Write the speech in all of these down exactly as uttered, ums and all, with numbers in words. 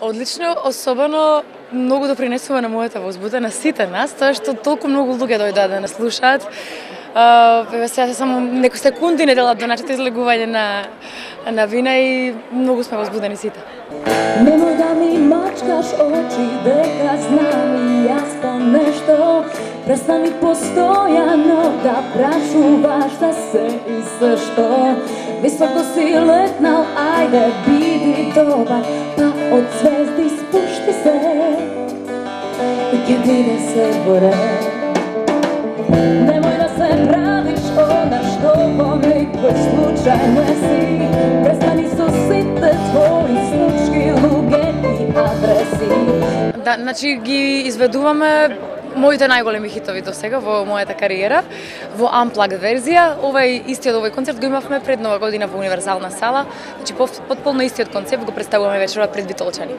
Одлично, особено многу допринесува на мојата возбуда, на сите нас, тоа што толку многу луѓе дојдоа да нас слушаат. Еве сега само некои секунди не делат до нашето излегување на на вина и многу сме возбудени сите. Немој да ми мачкаш очи, дека знам и јас по нешто. Престани постојано да прашуваш за се и зашто. Високо си летнал, ајде биди добар, па од звезди спушти се и ќе биде се горе. Немој да се правиш она што помикој случајно си. Престани со сите твои случки, луѓе и адреси. Да, значи ги изведуваме моите најголеми хитови до сега во мојата кариера во Unplugged верзија. Овај истиот овој концерт го имавме пред Нова година во Универзална сала. Значи потполно истиот концепт го представуваме вечерва пред Битолчани.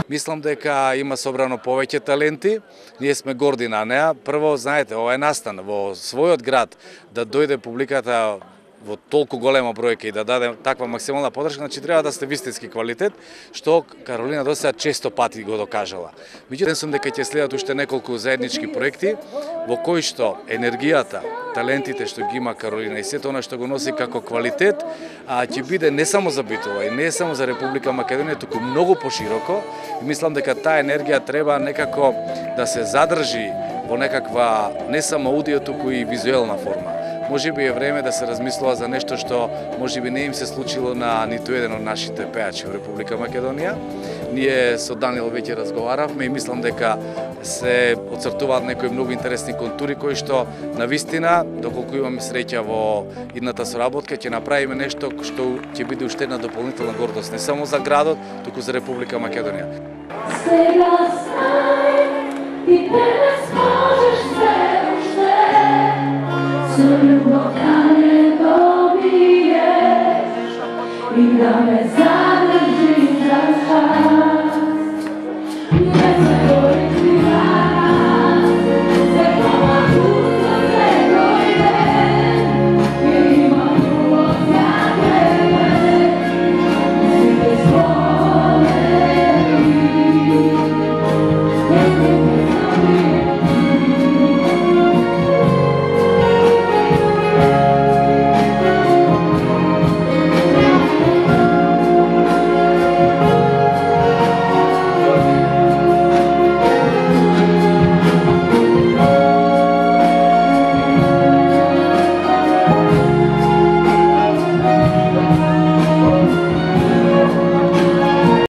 Мислам дека има собрано повеќе таленти, ние сме горди на неа. Прво, знаете, ова е настан во својот град да дојде публиката во толку голема бројка и да даде таква максимална подршка, значи треба да сте вистински квалитет, што Каролина до сега често пати го докажала. Меѓутоа, сум дека ќе следат уште неколку заеднички проекти во кои што енергијата, талентите што ги има Каролина и сето она што го носи како квалитет, а ќе биде не само за Битола и не само за Република Македонија, туку многу пошироко. И мислам дека таа енергија треба некако да се задржи во некаква не само аудио, туку и визуелна форма. Може би е време да се размислува за нешто што може би не им се случило на ниту еден од нашите пеачи во Република Македонија. Ние со Даниел веќе разговаравме и мислам дека се оцртуваат некои многу интересни контури кои што навистина, доколку имаме среќа во идната соработка, ќе направиме нешто што ќе биде уште една дополнителна гордост не само за градот, туку за Република Македонија. Сега знај и денес можеш се уште со љубов да не добиеш и да ме